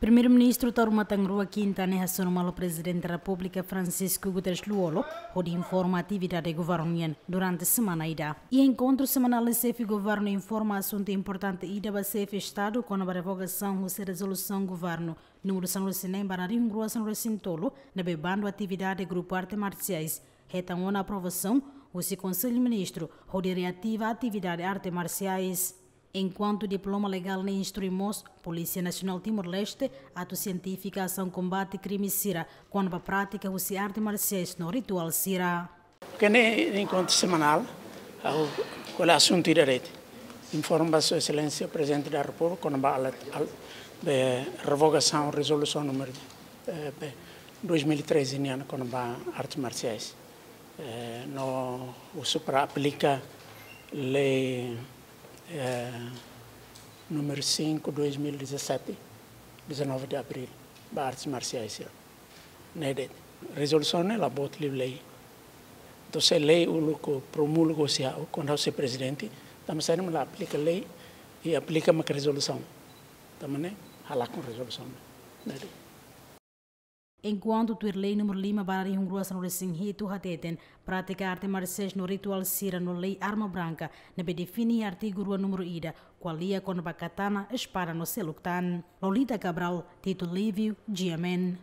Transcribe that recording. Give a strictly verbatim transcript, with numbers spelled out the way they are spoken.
Primeiru-Ministru Taur Matan Ruak Quinta ne'e hasoru malu Prezidente Repúblika Francisco Guterres Lú-Olo, hodi informa atividade governu nian durante semana ida. Iha enkontru semanál ne'e xefe governu informa asuntu importante ida ba xefe Estadu kona-ba revogasaun husi rezolusaun governu númeru sanulu-resin-neen barra rihun rua sanulu-resin-tolu, ne'ebé bandu atividade grupu arte marsiais hetan ona aprovasaun husi Konsellu Ministru hodi reativa atividade arte marsiais. Enkuantu diploma legál ne'e instrui mós Polísia Nasionál Timor-Leste atu sientifika asaun kombate krime sira kona-ba prátika husi arte marsiais no rituál sira. Kene enkontru semanál, ha'u ko'alia asuntu ida de'it. Informa Sua Exelénsia Prezidente da Repúblika kona-ba alat, al, be, revogasaun rezolusaun númeru, eh, be, dois mil e treze nian kona-ba artes marsiais. Eh, no husu para aplika lei, eh, númeru cinco, dois mil e dezassete, dezanove de abril, ba artes marsiais sira. Ne'e de'it. Rezolusaun ne'e la boot liu lei. Entaun se lei uluk promulga husi ha'u, kuandu ha'u sei prezidente, tanba saida mak la aplika lei, i aplika mak rezolusaun. Tanba ne'e halakon rezolusaun. Ne'e de'it. Enkuantu tuir lei númeru lima barra rihun rua sanulu-resin-hitu hateten, prátika arte marsiais no rituál sira no lei arma branka, ne'ebé define artigu rua númeru ida, ko'alia kona-ba katana, espada no seluk tan. Lolita Cabral, Tito Livio, G M N.